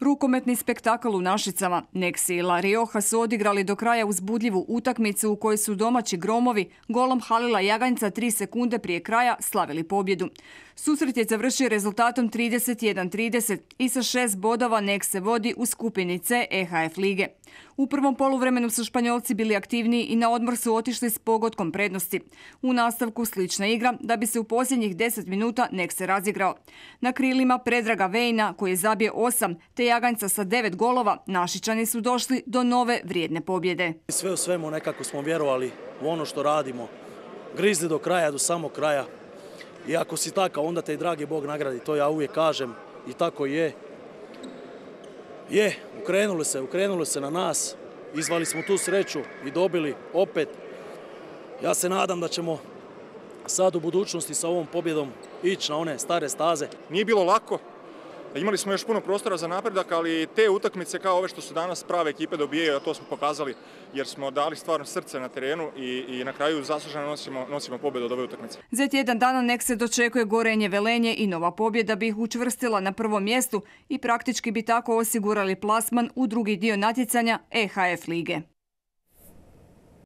Rukometni spektakl u Našicama. Neksi i La Rioja su odigrali do kraja uzbudljivu utakmicu u kojoj su domaći Gromovi golom Halila Jaganjca 3 sekunde prije kraja slavili pobjedu. Susret je završio rezultatom 31-30 i sa 6 bodova Nek se vodi u skupini C EHF lige. U prvom poluvremenu su Španjolci bili aktivniji i na odmor su otišli s pogotkom prednosti. U nastavku slična igra da bi se u posljednjih 10 minuta Nek se razigrao. Na krilima Predraga Vejna koji je zabio 8 te Jaganjca sa 9 golova, Našičani su došli do nove vrijedne pobjede. Sve u svemu nekako smo vjerovali u ono što radimo. Grizli do kraja, do samog kraja. I ako si takav, onda te i dragi Bog nagradi. To ja uvijek kažem i tako je. Ukrenuli se na nas, izvali smo tu sreću i dobili opet. Ja se nadam da ćemo sad u budućnosti sa ovom pobjedom ići na one stare staze. Nije bilo lako, imali smo još puno prostora za napredak, ali te utakmice kao ove što su danas prave ekipe dobijaju, a to smo pokazali jer smo dali stvarno srce na terenu i na kraju zasluženo nosimo pobjedu od ove utakmice. Za tjedan dana Nek se dočekuje Gorenje Velenje i nova pobjeda bi ih učvrstila na prvom mjestu i praktički bi tako osigurali plasman u drugi dio natjecanja EHF lige.